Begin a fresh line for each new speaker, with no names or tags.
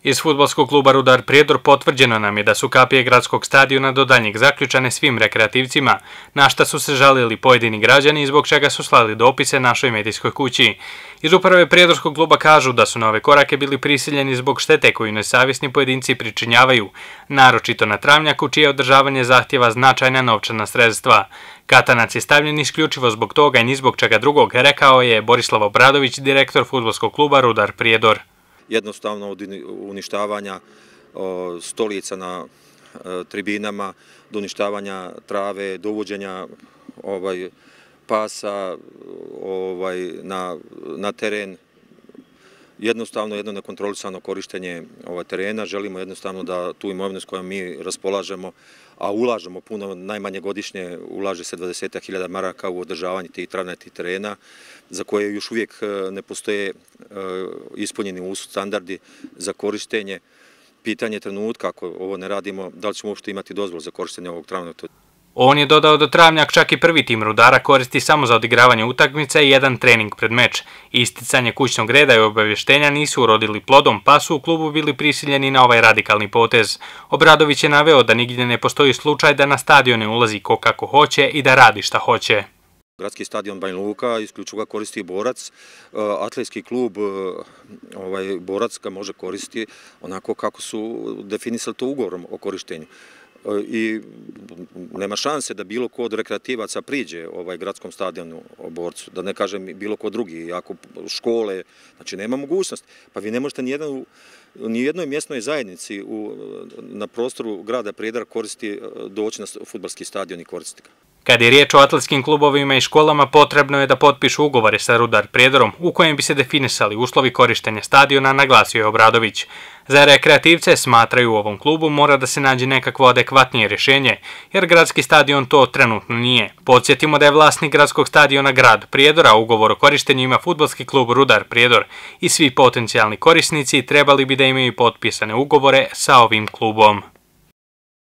Iz fudbalskog kluba Rudar Prijedor potvrđeno nam je da su kapije gradskog stadiona do daljnjeg zaključane svim rekreativcima, na šta su se žalili pojedini građani i zbog čega su slali dopise našoj medijskoj kući. Iz uprave Prijedorskog kluba kažu da su na ove korake bili prisiljeni zbog štete koju nesavjesni pojedinci pričinjavaju, naročito na travnjaku čije održavanje zahtjeva značajna novčana sredstva. Katanac je stavljen isključivo zbog toga i ni zbog čega drugog, rekao je Borislav Obradović, direktor fudbalskog kluba Rudar Prijedor.
Jednostavno od uništavanja stolica na tribinama, do uništavanja trave, do uvođenja pasa na teren. Jednostavno jedno nekontrolisano korištenje terena. Želimo jednostavno da tu imovinu s kojom mi raspolažemo, a ulažemo puno, najmanje godišnje ulaže se 20.000 maraka u održavanje tih travnatih terena, za koje još uvijek ne postoje ispunjeni standardi za korištenje. Pitanje trenutka, ako ovo ne radimo, da li ćemo uopšte imati dozvolu za korištenje ovog travnatog.
On je dodao da travnjak čak i prvi tim Rudara koristi samo za odigravanje utakmica i jedan trening pred meč. Isticanje kućnog reda i obavještenja nisu urodili plodom, pa su u klubu bili prisiljeni na ovaj radikalni potez. Obradović je naveo da nigdje ne postoji slučaj da na stadione ulazi ko kako hoće i da radi šta hoće.
Gradski stadion Banja Luka isključivo ga koristi Borac, atletski klub Borac ga može koristiti onako kako su definisali to ugovorom o korištenju. I nema šanse da bilo ko od rekreativaca priđe gradskom stadionu o Borcu, da ne kažem bilo ko drugi, ako škole, znači nema mogućnost. Pa vi ne možete ni jednoj mjesnoj zajednici na prostoru grada Prijedora doći na fudbalski stadion i koristiti ga.
Kad je riječ o atletskim klubovima i školama, potrebno je da potpišu ugovore sa Rudar Prijedorom u kojem bi se definisali uslovi korištenja stadiona, naglasio je Obradović. Za rekreativce, smatraju, u ovom klubu mora da se nađe nekakvo adekvatnije rješenje, jer gradski stadion to trenutno nije. Podsjetimo da je vlasnik gradskog stadiona grad Prijedora, a ugovor o korištenju ima fudbalski klub Rudar Prijedor i svi potencijalni korisnici trebali bi da imaju potpisane ugovore sa ovim klubom.